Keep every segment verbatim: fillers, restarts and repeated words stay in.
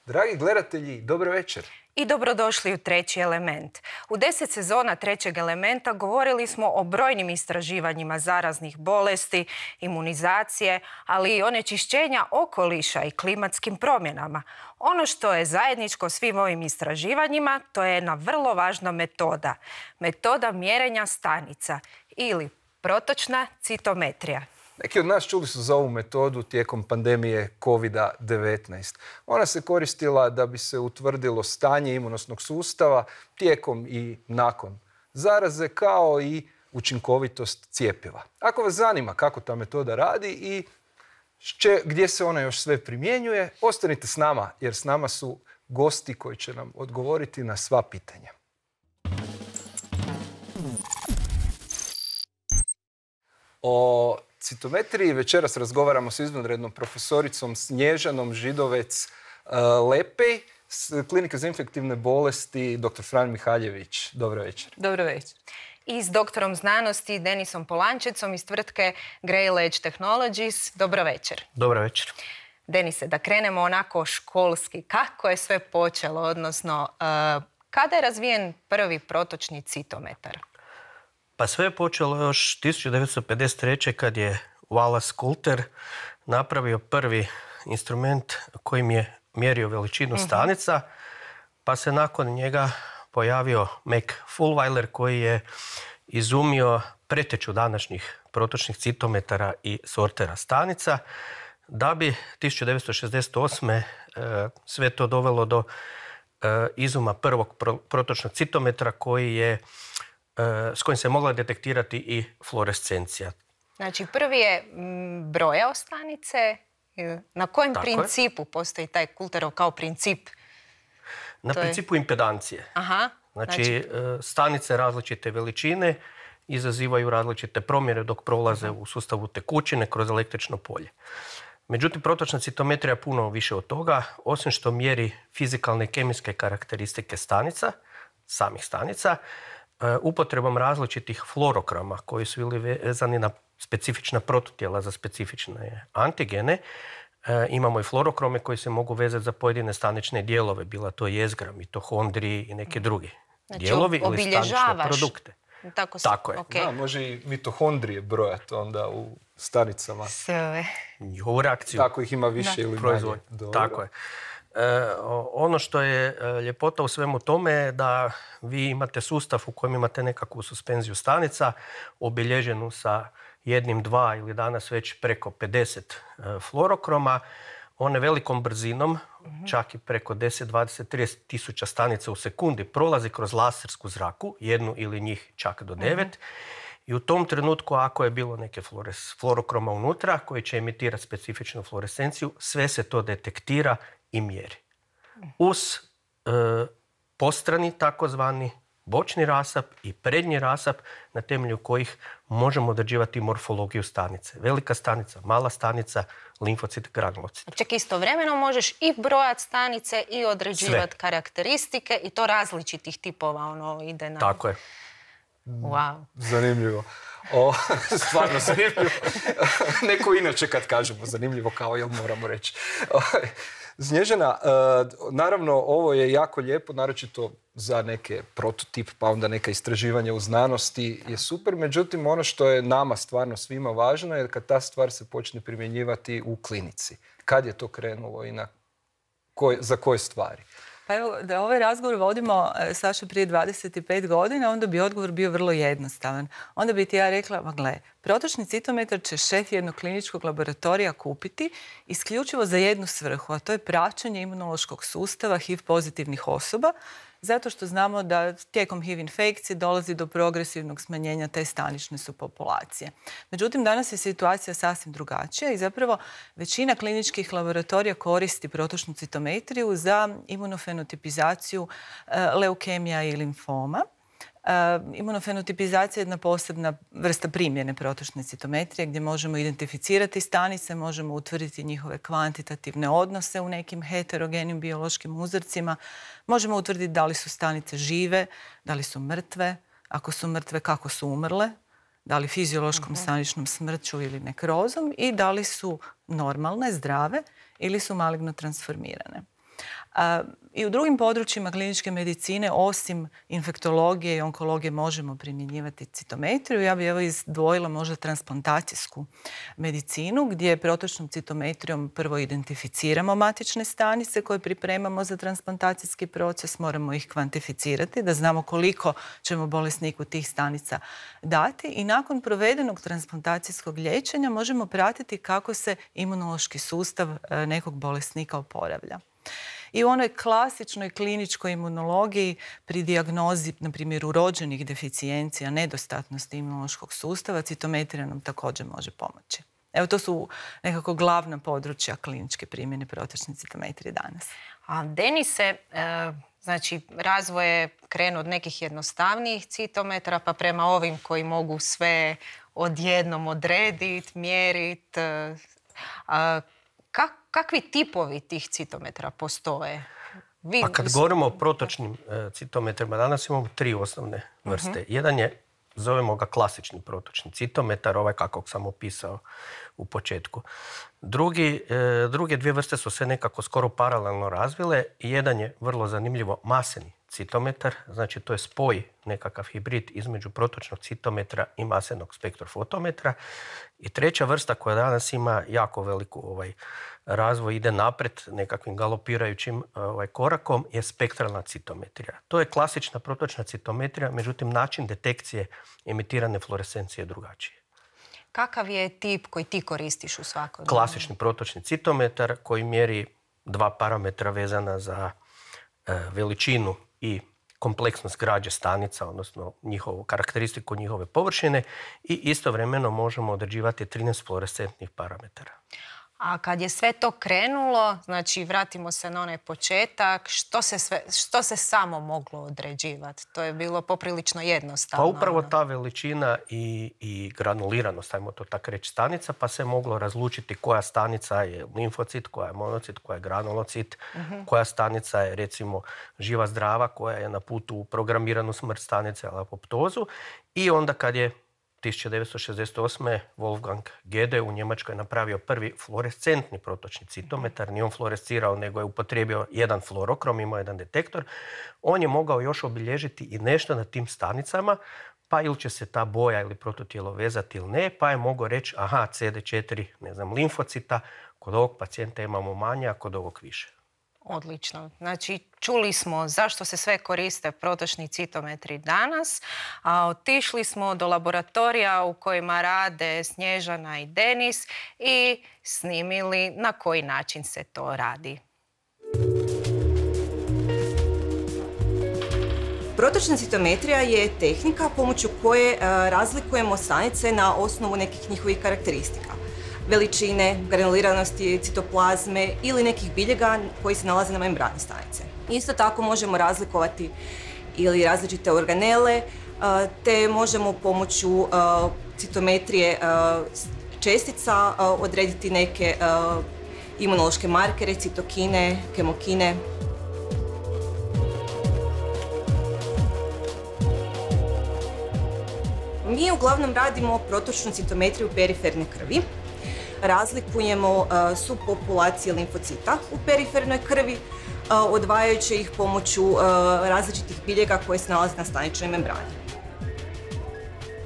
Dragi gledatelji, dobro večer. I dobrodošli u Treći element. U deset sezona Trećeg elementa govorili smo o brojnim istraživanjima zaraznih bolesti, imunizacije, ali i onečišćenja okoliša i klimatskim promjenama. Ono što je zajedničko svim ovim istraživanjima, to je jedna vrlo važna metoda. Metoda mjerenja stanica ili protočna citometrija. Neki od nas čuli su za ovu metodu tijekom pandemije kovid devetnaest. Ona se koristila da bi se utvrdilo stanje imunosnog sustava tijekom i nakon zaraze, kao i učinkovitost cjepiva. Ako vas zanima kako ta metoda radi i šće, gdje se ona još sve primjenjuje, ostanite s nama, jer s nama su gosti koji će nam odgovoriti na sva pitanja. O citometriji večeras razgovaramo s izvanrednom profesoricom Snježanom Židovec-Lepej s Klinike za infektivne bolesti doktor Fran Mihaljević. Dobro večer. Dobro večer. I s doktorom znanosti Denisom Polančecom iz tvrtke Grail Edge Technologies. Dobro večer. Dobro večer. Denise, da krenemo onako školski. Kako je sve počelo, odnosno uh, kada je razvijen prvi protočni citometar? Pa sve je počelo još tisuću devetsto pedeset treće. kad je Wallace Coulter napravio prvi instrument kojim je mjerio veličinu uh-huh. stanica, pa se nakon njega pojavio Mac Fulwiler koji je izumio preteču današnjih protočnih citometara i sortera stanica, da bi tisuću devetsto šezdeset osme. E, sve to dovelo do e, izuma prvog pro, protočnog citometra koji je s kojim se mogla detektirati i fluorescencija. Znači, prvi je brojao stanice. Na kojem Tako principu je. Postoji taj Coulterov kao princip? Na to principu je... impedancije. Aha, znači, znači, stanice različite veličine izazivaju različite promjere dok prolaze uh-huh. u sustavu tekućine kroz električno polje. Međutim, protočna citometrija je puno više od toga. Osim što mjeri fizikalne i kemijske karakteristike stanica, samih stanica, upotrebom različitih fluorokrama koji su bili vezani na specifična protutijela za specifične antigene. E, imamo i fluorokrome koji se mogu vezati za pojedine stanične dijelove, bila to jezgra, mitohondriji i neke drugi znači, dijelovi ili stanične produkte. Tako, Tako je. Okay. Da, može i mitohondrije brojati onda u stanicama. Sve. Njihovu reakciju. Tako ih ima više da. ili manje. Tako je. E, ono što je ljepota u svemu tome je da vi imate sustav u kojem imate nekakvu suspenziju stanica obilježenu sa jednim, dva ili danas već preko pedeset e, fluorokroma. One velikom brzinom, mm-hmm. čak i preko deset, dvadeset, trideset tisuća stanica u sekundi prolazi kroz lasersku zraku, jednu ili njih čak do devet. Mm-hmm. I u tom trenutku, ako je bilo neke fluores, fluorokroma unutra koji će emitirati specifičnu fluorescenciju, sve se to detektira i mjeri. Uz e, postrani takozvani bočni rasap i prednji rasap na temelju kojih možemo određivati morfologiju stanice. Velika stanica, mala stanica, limfocit, granulocit. Čak istovremeno možeš i brojati stanice i određivati karakteristike i to različitih tipova ono ide na... Tako je. Wow. Zanimljivo. O, stvarno zanimljivo. Neko inače kad kažemo zanimljivo kao jel moramo reći. Snježana, naravno ovo je jako lijepo, naročito za neke prototip, pa onda neka istraživanja u znanosti je super. Međutim, ono što je nama stvarno svima važno je kad ta stvar se počne primjenjivati u klinici. Kad je to krenulo i na koj, za koje stvari? Pa evo, da ovaj razgovor vodimo, Saša, prije dvadeset pet godina, onda bi odgovor bio vrlo jednostavan. Onda bi ti ja rekla, ma gle, protočni citometar će šef jednog kliničkog laboratorija kupiti isključivo za jednu svrhu, a to je praćenje imunološkog sustava H I V pozitivnih osoba, zato što znamo da tijekom H I V infekcije dolazi do progresivnog smanjenja te stanične subpopulacije. Međutim, danas je situacija sasvim drugačija i zapravo većina kliničkih laboratorija koristi protočnu citometriju za imunofenotipizaciju leukemija i limfoma. Uh, imunofenotipizacija je jedna posebna vrsta primjene protočne citometrije gdje možemo identificirati stanice, možemo utvrditi njihove kvantitativne odnose u nekim heterogenim biološkim uzorcima, možemo utvrditi da li su stanice žive, da li su mrtve, ako su mrtve kako su umrle, da li fiziološkom uh-huh. staničnom smrću ili nekrozom i da li su normalne, zdrave ili su maligno transformirane. I u drugim područjima kliničke medicine, osim infektologije i onkologije, možemo primjenjivati citometriju. Ja bih evo izdvojila možda transplantacijsku medicinu, gdje protočnom citometrijom prvo identificiramo matične stanice koje pripremamo za transplantacijski proces, moramo ih kvantificirati da znamo koliko ćemo bolesniku tih stanica dati i nakon provedenog transplantacijskog liječenja možemo pratiti kako se imunološki sustav nekog bolesnika oporavlja. I u onoj klasičnoj kliničkoj imunologiji pri dijagnozi, na primjer, urođenih deficijencija, nedostatnosti imunološkog sustava, citometrija nam također može pomoći. Evo, to su nekako glavna područja kliničke primjene protočne citometrije danas. A Denise, e, znači razvoj je krenuo od nekih jednostavnijih citometara pa prema ovim koji mogu sve odjednom odrediti, mjeriti. E, Kak, kakvi tipovi tih citometara postoje? Vi... Pa kad govorimo o protočnim e, citometrima, danas imamo tri osnovne vrste. Uh-huh. Jedan je, zovemo ga klasični protočni citometar, ovaj kakvog sam opisao u početku. Drugi, e, druge dvije vrste su se nekako skoro paralelno razvile. Jedan je vrlo zanimljivo maseni citometar, znači to je spoj, nekakav hibrid između protočnog citometra i masenog spektrofotometra. I treća vrsta koja danas ima jako veliku ovaj, razvoj, ide napred nekakvim galopirajućim ovaj, korakom, je spektralna citometrija. To je klasična protočna citometrija, međutim način detekcije emitirane fluorescencije je drugačiji. Kakav je tip koji ti koristiš u svakom? Klasični protočni citometar koji mjeri dva parametra vezana za e, veličinu i kompleksnost građe stanica, odnosno njihovu karakteristiku njihove površine i istovremeno možemo određivati trinaest fluorescentnih parametara. A kad je sve to krenulo, znači vratimo se na onaj početak, što se, sve, što se samo moglo određivati? To je bilo poprilično jednostavno. Pa upravo ta veličina i, i granuliranost, ajmo to tako reći, stanica, pa se moglo razlučiti koja stanica je limfocit, koja je monocit, koja je granulocit, uh-huh. koja stanica je recimo živa zdrava, koja je na putu u programiranu smrt stanice, ali apoptozu. I onda kad je tisuća devetsto šezdeset osme. Wolfgang Gede u Njemačkoj je napravio prvi fluorescentni protočni citometar. Nije on fluorescirao, nego je upotrijebio jedan fluorokrom, imao jedan detektor. On je mogao još obilježiti i nešto na tim stanicama, pa ili će se ta boja ili prototijelo vezati ili ne, pa je mogao reći aha, C D četiri, ne znam, limfocita, kod ovog pacijenta imamo manje, a kod ovog više. Odlično. Znači, čuli smo zašto se sve koriste protočni citometri danas, a otišli smo do laboratorija u kojima rade Snježana i Denis i snimili na koji način se to radi. Protočna citometrija je tehnika pomoću koje razlikujemo stanice na osnovu nekih njihovih karakteristika. Veličine, granuliranosti, citoplazme ili nekih biljega koji se nalaze na membrani stanice. Isto tako možemo razlikovati ili različite organele, te možemo pomoću citometrije čestica odrediti neke imunološke markere, citokine, kemokine. Mi uglavnom radimo protočnu citometriju periferne krvi. Razlikujemo uh, subpopulacije limfocita u perifernoj krvi, uh, odvajajući ih pomoću uh, različitih biljega koje se nalaze na staničnoj membrani.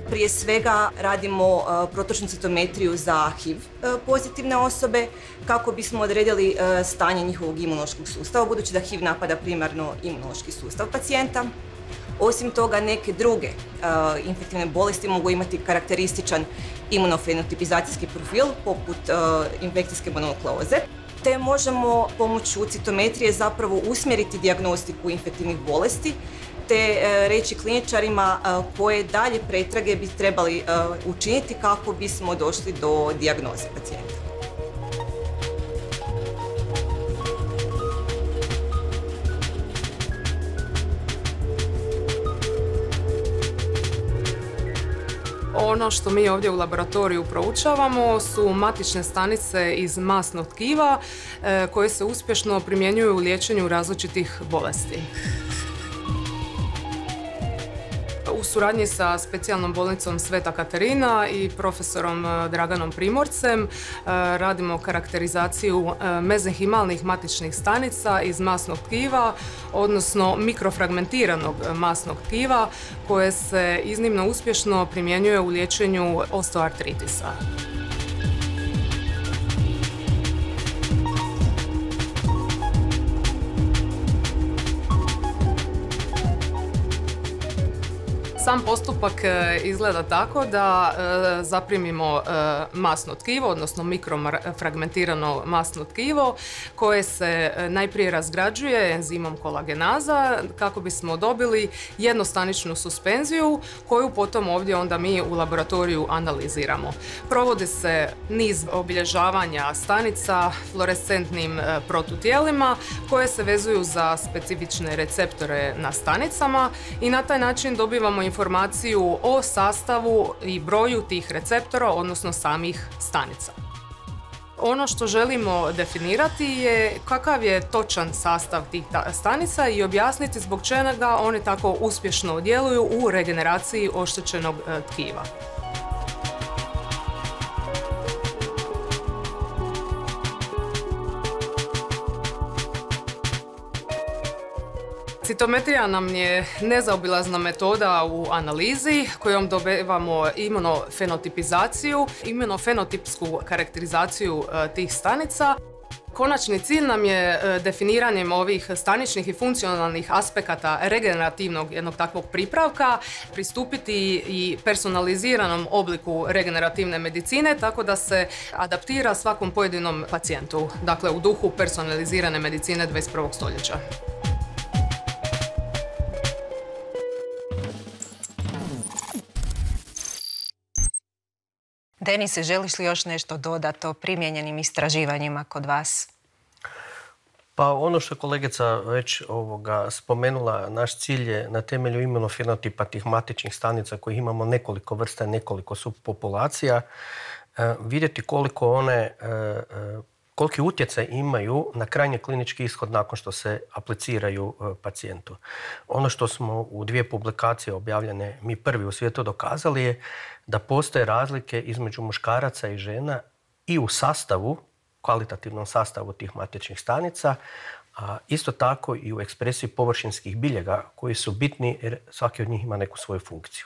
Prije svega radimo uh, protočnu citometriju za H I V uh, pozitivne osobe kako bismo odredili uh, stanje njihovog imunološkog sustava, budući da H I V napada primarno imunološki sustav pacijenta. Osim toga, neke druge uh, infektivne bolesti mogu imati karakterističan imunofenotipizacijski profil, poput uh, infekcijske mononukleoze, te možemo pomoću citometrije zapravo usmjeriti dijagnostiku infektivnih bolesti, te uh, reći kliničarima uh, koje dalje pretrage bi trebali uh, učiniti kako bismo došli do dijagnoze pacijenta. Ono što mi ovdje u laboratoriju proučavamo su matične stanice iz masnog tkiva e, koje se uspješno primjenjuju u liječenju različitih bolesti. U U suradnji sa specijalnom bolnicom Sveta Katarina i profesorom Draganom Primorcem radimo karakterizaciju mezenhimalnih matičnih stanica iz masnog tkiva, odnosno mikrofragmentiranog masnog tkiva koje se iznimno uspješno primjenjuje u liječenju osteoartritisa. Sam postupak izgleda tako da e, zaprimimo e, masno tkivo, odnosno mikrofragmentirano masno tkivo koje se najprije razgrađuje enzimom kolagenaza kako bismo dobili jednostaničnu suspenziju koju potom ovdje onda mi u laboratoriju analiziramo. Provodi se niz obilježavanja stanica fluorescentnim e, protutijelima koje se vezuju za specifične receptore na stanicama i na taj način dobivamo informaciju o sastavu i broju tih receptora, odnosno samih stanica. Ono što želimo definirati je kakav je točan sastav tih stanica i objasniti zbog čega one tako uspješno djeluju u regeneraciji oštećenog tkiva. Citometrija nam je nezaobilazna metoda u analizi kojom dobivamo imunofenotipizaciju, imunofenotipsku karakterizaciju tih stanica. Konačni cilj nam je definiranjem ovih staničnih i funkcionalnih aspekata regenerativnog jednog takvog pripravka pristupiti i personaliziranom obliku regenerativne medicine tako da se adaptira svakom pojedinom pacijentu, dakle u duhu personalizirane medicine dvadeset prvog stoljeća. Denise, želiš li još nešto dodati o primijenjenim istraživanjima kod vas? Pa ono što je kolegica već ovoga spomenula, naš cilj je na temelju imunofenotipa tih matičnih stanica kojih imamo nekoliko vrsta, nekoliko subpopulacija, vidjeti koliko one, koliki utjecaj imaju na krajnji klinički ishod nakon što se apliciraju pacijentu. Ono što smo u dvije publikacije objavljene mi prvi u svijetu dokazali je da postoje razlike između muškaraca i žena i u sastavu, kvalitativnom sastavu tih matičnih stanica, a isto tako i u ekspresiji površinskih biljega koji su bitni jer svaki od njih ima neku svoju funkciju.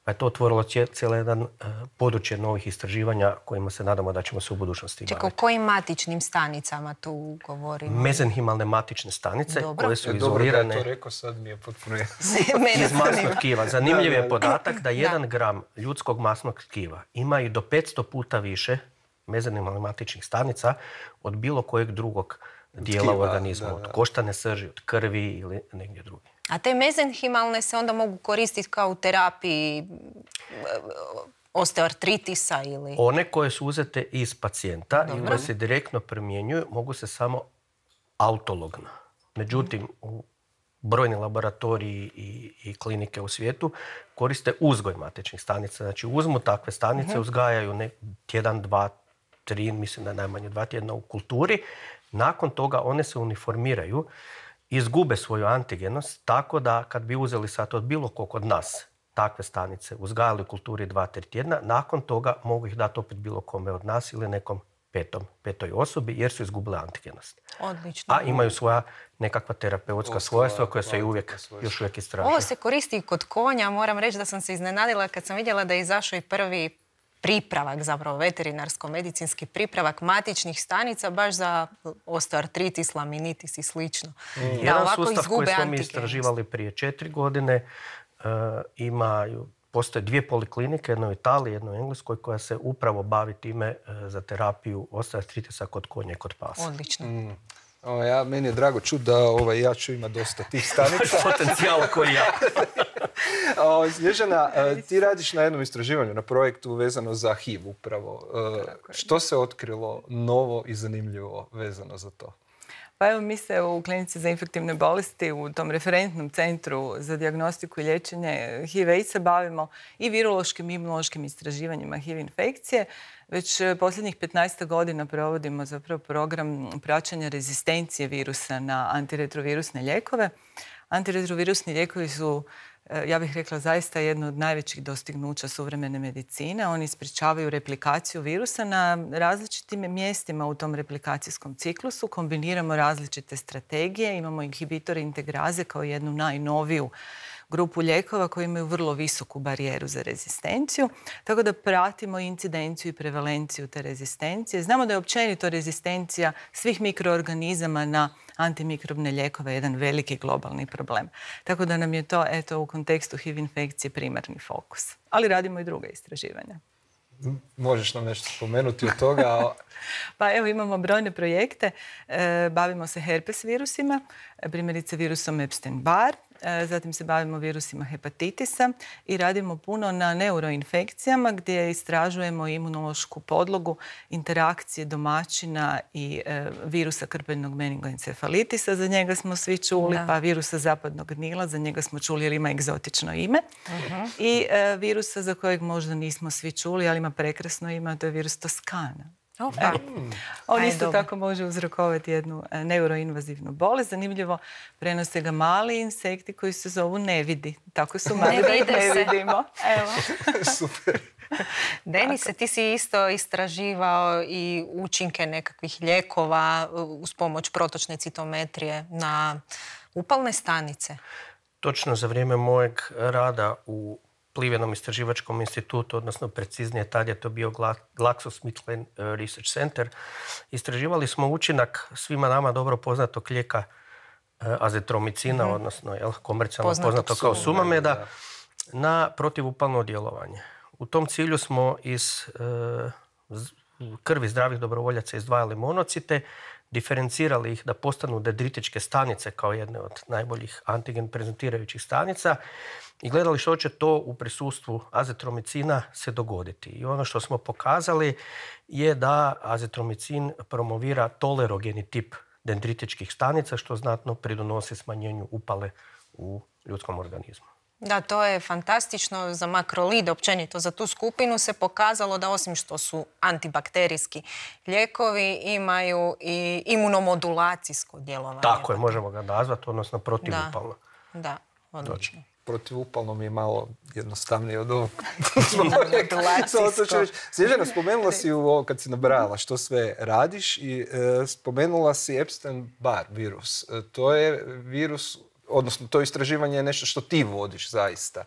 Pa je to otvorilo cijelo jedan uh, područje novih istraživanja kojima se nadamo da ćemo se u budućnosti baviti. Čekaj, o kojim matičnim stanicama tu govorimo? Mezenhimalne matične stanice. Dobro. Koje su e, izolirane... Dobro da je to rekao, sad mi je potpuno jasno. Iz masnog tkiva. Zanimljiv je podatak da jedan gram ljudskog masnog tkiva ima i do petsto puta više mezenhimalnih matičnih stanica od bilo kojeg drugog dijela u organizmu. Da, da. Od koštane srži, od krvi ili negdje drugdje. A te mezenhimalne se onda mogu koristiti kao u terapiji osteoartritisa ili... One koje su uzete iz pacijenta i koje se direktno primjenjuju mogu se samo autologno. Međutim, u brojni laboratoriji i, i klinike u svijetu koriste uzgoj matičnih stanica. Znači uzmu takve stanice, uh-huh. uzgajaju ne, tjedan, dva, tri, mislim da najmanje dva tjedna u kulturi. Nakon toga one se uniformiraju, izgube svoju antigenost, tako da kad bi uzeli sad od bilo kog od nas takve stanice, uzgajali u kulturi dva, tri tjedna, nakon toga mogu ih dati opet bilo kome od nas ili nekom petom, petoj osobi jer su izgubile antigenost. Odlično. A imaju svoja nekakva terapeutska svojstva koja se uvijek, još uvijek istražuju. Ovo se koristi i kod konja. Moram reći da sam se iznenadila kad sam vidjela da je izašao i prvi pripravak, zapravo veterinarsko-medicinski pripravak matičnih stanica baš za osteoartritis, laminitis i slično. Mm. Jedan sustav koji smo mi istraživali prije četiri godine uh, imaju, postoje dvije poliklinike, jedna u Italiji, jedna u Engleskoj, koja se upravo bavi time uh, za terapiju osteoartritisa kod konja i kod pasa. Odlično. Mm. O, ja, meni je drago čuti da ovaj, ja ću imati dosta tih stanica. Potencijala koji ja. O, Snježana, ti radiš na jednom istraživanju, na projektu vezano za H I V upravo. Što se otkrilo novo i zanimljivo vezano za to? Pa evo, mi se u Klinici za infektivne bolesti, u tom referentnom centru za dijagnostiku i liječenje H I V AIDS-a bavimo i virološkim i imunološkim istraživanjima H I V infekcije. Već posljednjih petnaest godina provodimo zapravo program praćenja rezistencije virusa na antiretrovirusne lijekove. Antiretrovirusni lijekovi su, ja bih rekla, zaista jedno od najvećih dostignuća suvremene medicine. Oni sprječavaju replikaciju virusa na različitim mjestima u tom replikacijskom ciklusu. Kombiniramo različite strategije. Imamo inhibitore integraze kao jednu najnoviju grupu lijekova koji imaju vrlo visoku barijeru za rezistenciju, tako da pratimo incidenciju i prevalenciju te rezistencije. Znamo da je općenito rezistencija svih mikroorganizama na antimikrobne lijekove jedan veliki globalni problem. Tako da nam je to, eto, u kontekstu H I V infekcije primarni fokus. Ali radimo i druga istraživanja. Možeš nam nešto spomenuti od toga? Pa evo, imamo brojne projekte. E, bavimo se herpes virusima, primjerice virusom Epstein-Barr. Zatim se bavimo virusima hepatitisa i radimo puno na neuroinfekcijama gdje istražujemo imunološku podlogu interakcije domaćina i e, virusa krpeljnog meningoencefalitisa, za njega smo svi čuli, da. Pa virusa zapadnog Nila, za njega smo čuli jer ima egzotično ime. Uh-huh. I e, virusa za kojeg možda nismo svi čuli, ali ima prekrasno ime, to je virus Toskana. Oh, mm. On isto dobro. Tako može uzrokovati jednu neuroinvazivnu bolest. Zanimljivo, prenose ga mali insekti koji se zovu nevidi. Tako su mali da ih ne vidimo. Evo. Super. Denise, ti si isto istraživao i učinke nekakvih lijekova uz pomoć protočne citometrije na upalne stanice. Točno za vrijeme mojeg rada u Plivenom istraživačkom institutu, odnosno preciznije tad je to bio GlaxoSmithKline Research Center. Istraživali smo učinak svima nama dobro poznatog lijeka azitromicina, mm-hmm. odnosno jel, komercijalno poznato, poznato kao Sumameda, da. Na protivupalno djelovanje. U tom cilju smo iz e, krvi zdravih dobrovoljaca izdvajali monocite, diferencirali ih da postanu dendritičke stanice kao jedne od najboljih antigen prezentirajućih stanica i gledali što će to u prisustvu azitromicina se dogoditi. I ono što smo pokazali je da azitromicin promovira tolerogeni tip dendritičkih stanica, što znatno pridonosi smanjenju upale u ljudskom organizmu. Da, to je fantastično. Za makrolide, općenito za tu skupinu, se pokazalo da osim što su antibakterijski lijekovi, imaju i imunomodulacijsko djelovanje. Tako je, možemo ga nazvati, odnosno protivupalno. Da, da, odlično. Protivupalno mi je malo jednostavnije od ovog. Snježana, spomenula si u ovo kad si nabrajala što sve radiš i e, spomenula si Epstein-Barr virus. E, to je virus, odnosno to istraživanje je nešto što ti vodiš zaista.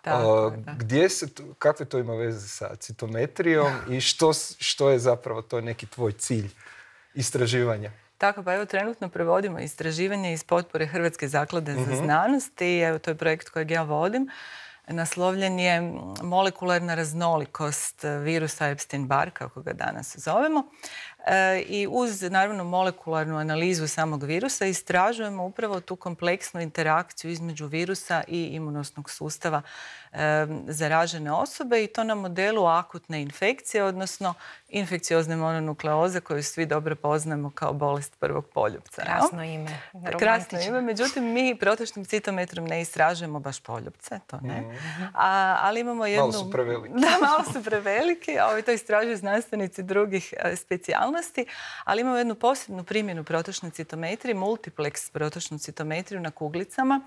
Tako, uh, gdje se, kakve to ima veze sa citometrijom i što, što je zapravo to neki tvoj cilj istraživanja? Tako, pa evo trenutno provodimo istraživanje iz potpore Hrvatske zaklade mm-hmm. za znanost i evo to je projekt kojeg ja vodim. Naslovljen je molekularna raznolikost virusa Epstein-Barr, kako ga danas zovemo. E, I uz, naravno, molekularnu analizu samog virusa istražujemo upravo tu kompleksnu interakciju između virusa i imunosnog sustava e, zaražene osobe i to na modelu akutne infekcije, odnosno infekciozne mononukleoze koju svi dobro poznamo kao bolest prvog poljupca. Krasno ime. Krasno ime. Međutim, mi protočnim citometrom ne istražujemo baš poljupce, to ne. Mm. A, ali imamo jednu... Malo su preveliki. Da, malo su preveliki. Ovi to istražuju znanstvenici drugih specijalnosti, ali imamo jednu posebnu primjenu protočne citometrije, multiplex protočnu citometriju na kuglicama.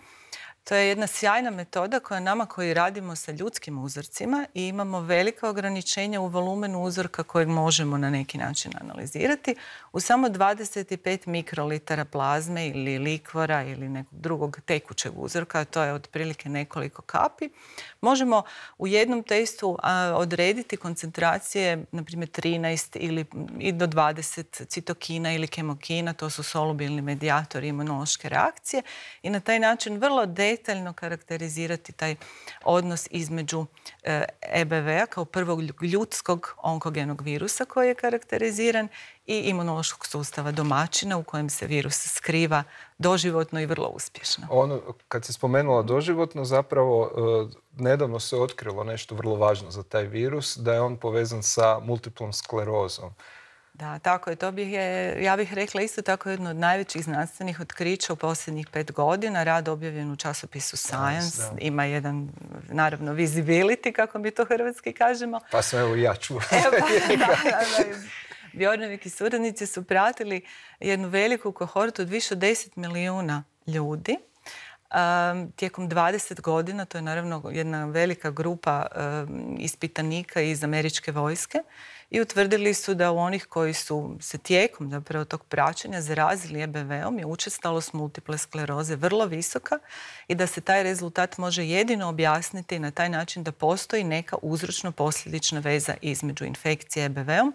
To je jedna sjajna metoda koja nama koji radimo sa ljudskim uzorcima i imamo velika ograničenja u volumenu uzorka kojeg možemo na neki način analizirati. U samo dvadeset pet mikrolitara plazme ili likvora ili nekog drugog tekućeg uzorka, to je otprilike nekoliko kapi, možemo u jednom testu a, odrediti koncentracije, na primjer trinaest ili i do dvadeset citokina ili kemokina, to su solubilni medijatori imunološke reakcije i na taj način vrlo detaljno karakterizirati taj odnos između E B V-a kao prvog ljudskog onkogenog virusa koji je karakteriziran i imunološkog sustava domaćina u kojem se virus skriva doživotno i vrlo uspješno. Ono, kad si spomenula doživotno, zapravo nedavno se otkrilo nešto vrlo važno za taj virus, da je on povezan sa multiplom sklerozom. Da, tako je. To bih je, ja bih rekla isto tako jedno od najvećih znanstvenih otkrića u posljednjih pet godina. Rad objavljen u časopisu Science. Da. Ima jedan, naravno, visibility, kako mi to hrvatski kažemo. Pa sam evo i ja čuo. Evo, pa, da, da, da. Bjornevik i suradnici su pratili jednu veliku kohortu od više od deset milijuna ljudi tijekom dvadeset godina, to je naravno jedna velika grupa ispitanika iz američke vojske, i utvrdili su da u onih koji su se tijekom zapravo tog praćenja zarazili E B V-om je učestalost multiple skleroze vrlo visoka i da se taj rezultat može jedino objasniti na taj način da postoji neka uzročno-posljedična veza između infekcije E B V-om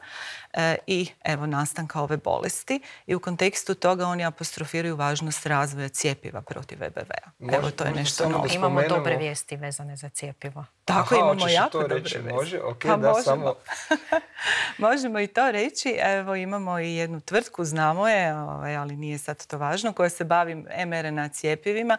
e, i evo nastanka ove bolesti. I u kontekstu toga oni apostrofiraju važnost razvoja cjepiva protiv E B V-a. Evo, to je nešto novo. Imamo dobre vijesti vezane za cjepivo. Tako, Aha, imamo jako to dobre reći? veze. Može? Ok, pa da, možemo. samo... možemo i to reći. Evo, imamo i jednu tvrtku, znamo je, ovaj, ali nije sad to važno, koja se bavi em er en a cjepivima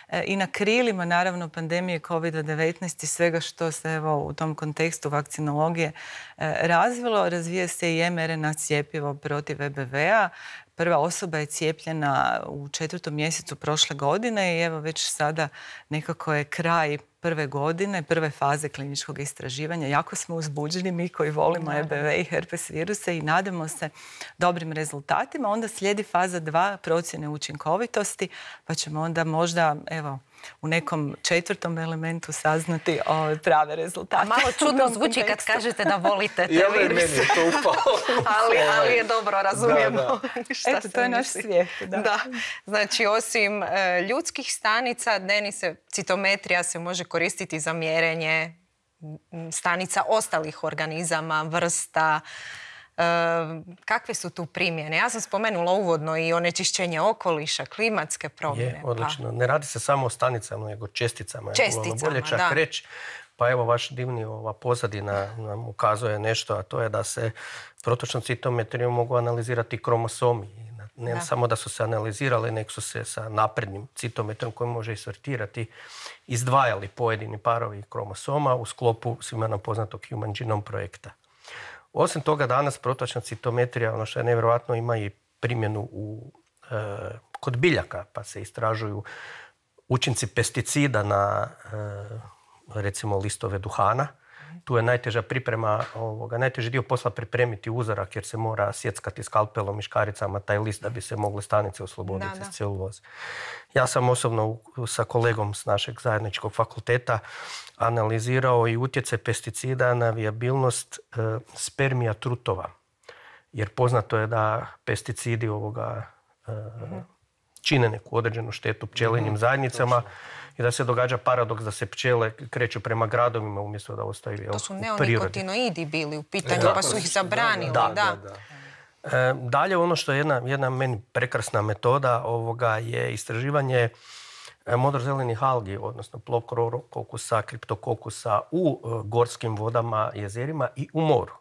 e, i na krilima, naravno, pandemije kovid devetnaest i svega što se evo, u tom kontekstu vakcinologije e, razvilo. Razvije se i em er en a cjepivo protiv E B V-a. Prva osoba je cijepljena u četvrtom mjesecu prošle godine i evo već sada nekako je kraj prve godine, prve faze kliničkog istraživanja. Jako smo uzbuđeni, mi koji volimo E B V i herpes viruse, i nadamo se dobrim rezultatima. Onda slijedi faza dva, procjene učinkovitosti, pa ćemo onda možda, evo, u nekom četvrtom elementu saznati ove prave rezultate. Malo čudno zvuči kad kažete da volite te viruse. Meni je to upalo. ali, ali je dobro, razumijemo. Da, da. Šta Eto, to je naš svijet. Da. Da. Znači, osim e, ljudskih stanica, denise, citometrija se može koristiti za mjerenje stanica ostalih organizama, vrsta. E, kakve su tu primjene? Ja sam spomenula uvodno i onečišćenje okoliša, klimatske promjene. Je, odlično. Pa. Ne radi se samo o stanicama, nego česticama. Česticama, bolje čak da. reći. Pa evo, vaš divni ova pozadina nam ukazuje nešto, a to je da se protočnom citometrijom mogu analizirati kromosomi. Ne da. samo da su se analizirali, nek su se sa naprednim citometrom koji može isortirati izdvajali pojedini parovi kromosoma u sklopu svima nam poznatog Human Genome projekta. Osim toga, danas protočna citometrija, ono što je nevjerojatno, ima i primjenu u, e, kod biljaka, pa se istražuju učinci pesticida na e, recimo listove duhana. Tu je najteža priprema, ovoga, najteži dio posla pripremiti uzorak jer se mora sjeckati skalpelom i škaricama taj list da bi se mogle stanice osloboditi iz celuloze. Ja sam osobno sa kolegom s našeg zajedničkog fakulteta analizirao i utjecaj pesticida na vijabilnost e, spermija trutova. Jer poznato je da pesticidi ovoga e, čine neku određenu štetu pčelinjim zajednicama i da se događa paradoks da se pčele kreću prema gradovima umjesto da ostaju u prirodi. To su neonikotinoidi bili u pitanju, pa su ih zabranili. Da, da, da. E, dalje, ono što je jedna, jedna meni prekrasna metoda ovoga je istraživanje modrozelenih algi, odnosno Pleurococcus, Cryptococcus u uh, gorskim vodama, jezerima i u moru.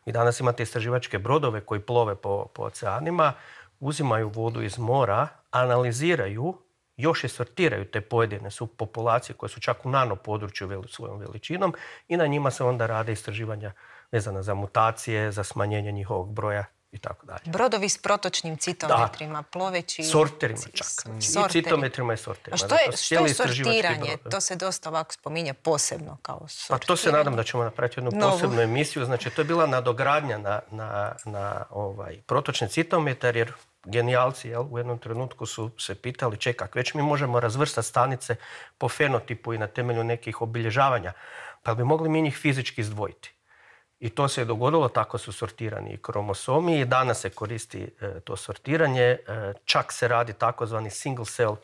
Vi danas imate istraživačke brodove koji plove po, po oceanima, uzimaju vodu iz mora, analiziraju, još je sortiraju te pojedine subpopulacije koje su čak u nano području veli, svojom veličinom i na njima se onda rade istraživanja vezana za mutacije, za smanjenje njihovog broja i tako dalje. Brodovi s protočnim citometrima, da. Ploveći... Sorterima čak. Sorteri. I citometrima i sorterima. A što je, što je sortiranje? To se dosta ovako spominje posebno kao sortiranje. Pa to se nadam da ćemo napraviti jednu Novu. posebnu emisiju. Znači, to je bila nadogradnja na, na, na ovaj, protočni citometar, jer genijalci jel, u jednom trenutku su se pitali, čekak, već mi možemo razvrstati stanice po fenotipu i na temelju nekih obilježavanja, pa bi mogli mi njih fizički izdvojiti. I to se je dogodilo, tako su sortirani i kromosomi i danas se koristi e, to sortiranje. E, čak se radi takozvani single cell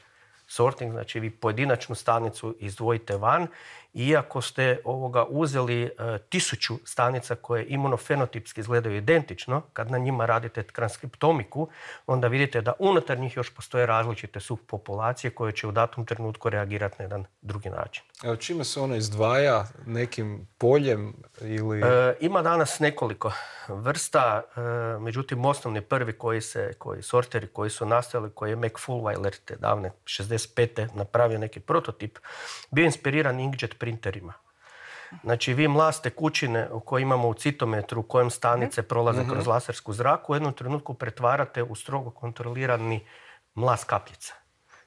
sorting, znači vi pojedinačnu stanicu izdvojite van. Iako ste ovoga uzeli e, tisuću stanica koje imunofenotipski izgledaju identično, kad na njima radite transkriptomiku, onda vidite da unutar njih još postoje različite subpopulacije koje će u datom trenutku reagirati na jedan drugi način. Evo, čime se ona izdvaja? Nekim poljem ili... E, ima danas nekoliko vrsta, e, međutim osnovni prvi koji se, koji sorteri koji su nastajali, koji je Mac Fulwiler te davne šezdeset pete napravio neki prototip, bio inspiriran inkjet printerima. Znači, vi mlaz tekućine koje imamo u citometru, u kojem stanice prolaze kroz lasersku zraku, u jednom trenutku pretvarate u strogo kontrolirani mlaz kapljica.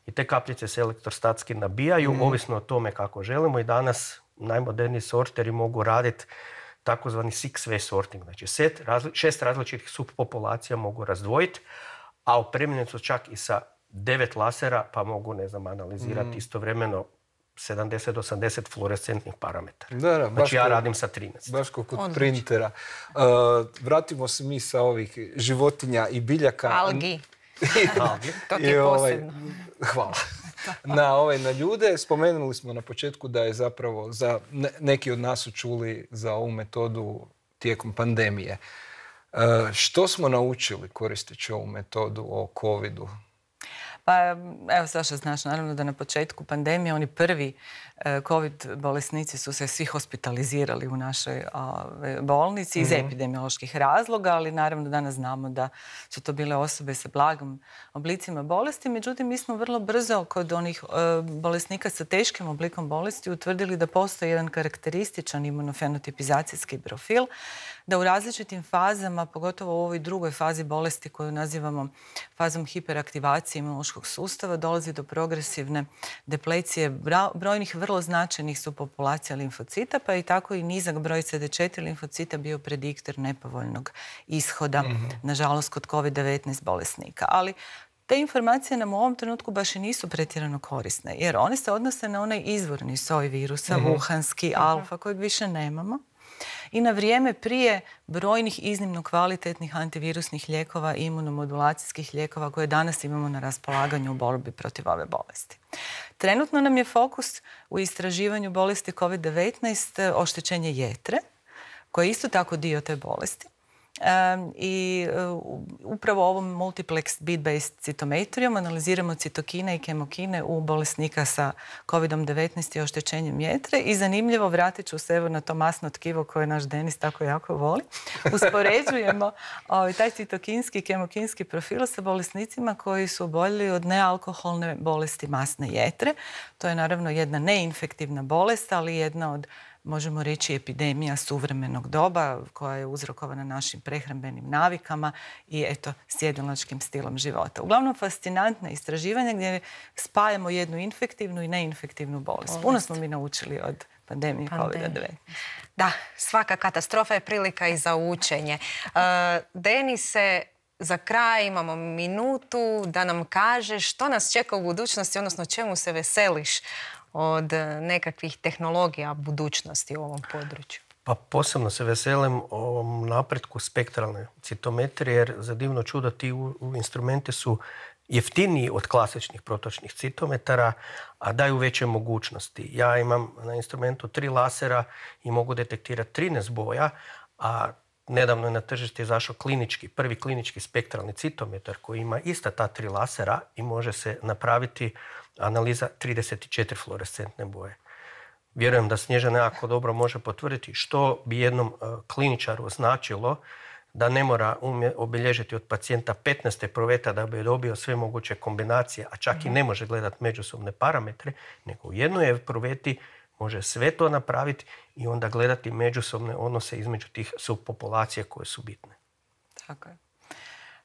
I te kapljice se elektrostatski nabijaju, mm. ovisno o tome kako želimo. I danas najmoderniji sorteri mogu raditi takozvani six-way sorting. Znači, set, razli, šest različitih subpopulacija mogu razdvojiti, a opremljeni su čak i sa devet lasera pa mogu, ne znam, analizirati mm. istovremeno sedamdeset do osamdeset fluorescentnih parametara. Da, da, znači ja radim sa trinaest. Baš kao kod Odlično. printera. Uh, vratimo se mi sa ovih životinja i biljaka. Algi. To ti I, je ovaj, posebno. Hvala. Na, ovaj, na ljude spomenuli smo na početku da je zapravo, za, ne, neki od nas su čuli za ovu metodu tijekom pandemije. Uh, što smo naučili koristeći ovu metodu o covidu? Pa evo, Saša, znaš naravno da na početku pandemije oni prvi COVID bolesnici su se svi hospitalizirali u našoj ove, bolnici iz mm-hmm. epidemioloških razloga, ali naravno danas znamo da su to bile osobe sa blagom oblicima bolesti. Međutim, mi smo vrlo brzo kod onih e, bolesnika sa teškim oblikom bolesti utvrdili da postoji jedan karakterističan imunofenotipizacijski profil, da u različitim fazama, pogotovo u ovoj drugoj fazi bolesti koju nazivamo fazom hiperaktivacije imunološkog sustava, dolazi do progresivne deplecije brojnih vrlo značajnih subpopulacija limfocita, pa i tako i nizak broj C D četiri limfocita bio prediktor nepovoljnog ishoda, mm-hmm. nažalost, kod kovid devetnaest bolesnika. Ali te informacije nam u ovom trenutku baš i nisu pretjerano korisne, jer one se odnose na onaj izvorni soj virusa, mm-hmm. wuhanski, alfa, kojeg više nemamo. I na vrijeme prije brojnih iznimno kvalitetnih antivirusnih lijekova i imunomodulacijskih lijekova koje danas imamo na raspolaganju u borbi protiv ove bolesti. Trenutno nam je fokus u istraživanju bolesti kovid devetnaest oštećenje jetre, koje je isto tako dio te bolesti. Um, I uh, upravo ovom multiplex bead-based citometrijom analiziramo citokine i kemokine u bolesnika sa kovid devetnaest i oštećenjem jetre i zanimljivo, vratit ću se evo na to masno tkivo koje naš Denis tako jako voli, uspoređujemo ovaj, taj citokinski i kemokinski profil sa bolesnicima koji su oboljeli od nealkoholne bolesti masne jetre. To je naravno jedna neinfektivna bolest, ali jedna od, možemo reći, epidemija suvremenog doba koja je uzrokovana našim prehrambenim navikama i eto sjedalačkim stilom života. Uglavnom fascinantna istraživanja gdje spajamo jednu infektivnu i neinfektivnu bolest. Puno smo mi naučili od pandemije kovid devetnaest. Da, svaka katastrofa je prilika i za učenje. Uh, Denise, za kraj imamo minutu da nam kaže što nas čeka u budućnosti, odnosno čemu se veseliš od nekakvih tehnologija budućnosti u ovom području? Pa posebno se veselim ovom napretku spektralne citometrije, jer za divno čudo ti u, u instrumenti su jeftiniji od klasičnih protočnih citometara, a daju veće mogućnosti. Ja imam na instrumentu tri lasera i mogu detektirati trinaest boja, a nedavno je na tržište izašao klinički, prvi klinički spektralni citometar koji ima ista ta tri lasera i može se napraviti analiza trideset četiri fluorescentne boje. Vjerujem da Snježana jako dobro može potvrditi što bi jednom uh, kliničaru značilo da ne mora umje, obilježiti od pacijenta petnaest epruveta da bi dobio sve moguće kombinacije, a čak mm-hmm. i ne može gledati međusobne parametre, nego u jednoj epruveti može sve to napraviti i onda gledati međusobne odnose između tih subpopulacija koje su bitne. Tako je.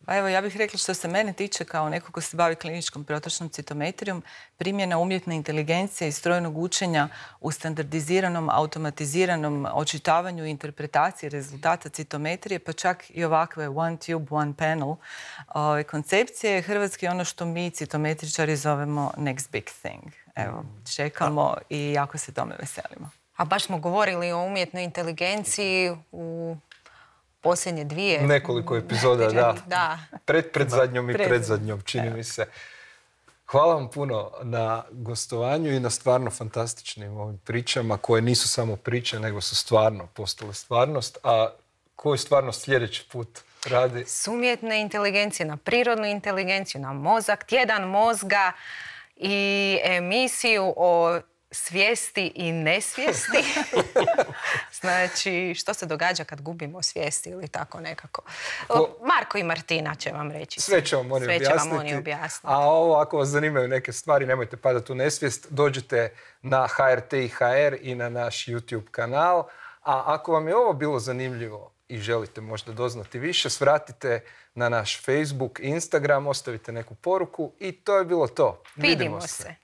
Pa evo, ja bih rekla što se mene tiče kao neko ko se bavi kliničkom protočnom citometrijom, primjena umjetne inteligencije i strojnog učenja u standardiziranom, automatiziranom očitavanju i interpretaciji rezultata citometrije, pa čak i ovakve one tube, one panel o, koncepcije je hrvatski ono što mi citometričari zovemo next big thing. Evo, čekamo i jako se tome veselimo. A baš smo govorili o umjetnoj inteligenciji u posljednje dvije... Nekoliko epizoda, da. da. Pred, pred zadnjom i pred zadnjom, čini Evo. mi se. Hvala vam puno na gostovanju i na stvarno fantastičnim ovim pričama koje nisu samo priče, nego su stvarno postale stvarnost. A koju stvarnost sljedeći put radi? S umjetne inteligencije na prirodnu inteligenciju, na mozak, tjedan mozga i emisiju o svijesti i nesvijesti. Znači, što se događa kad gubimo svijesti ili tako nekako. O, Marko i Martina će vam reći. Sve će vam oni Sve objasniti. Će vam oni objasniti. A ovo, ako vas zanimaju neke stvari, nemojte padati u nesvijest. Dođite na H R T i H R i na naš YouTube kanal. A ako vam je ovo bilo zanimljivo i želite možda doznati više, svratite na naš Facebook, Instagram, ostavite neku poruku i to je bilo to. Vidimo, Vidimo se. se.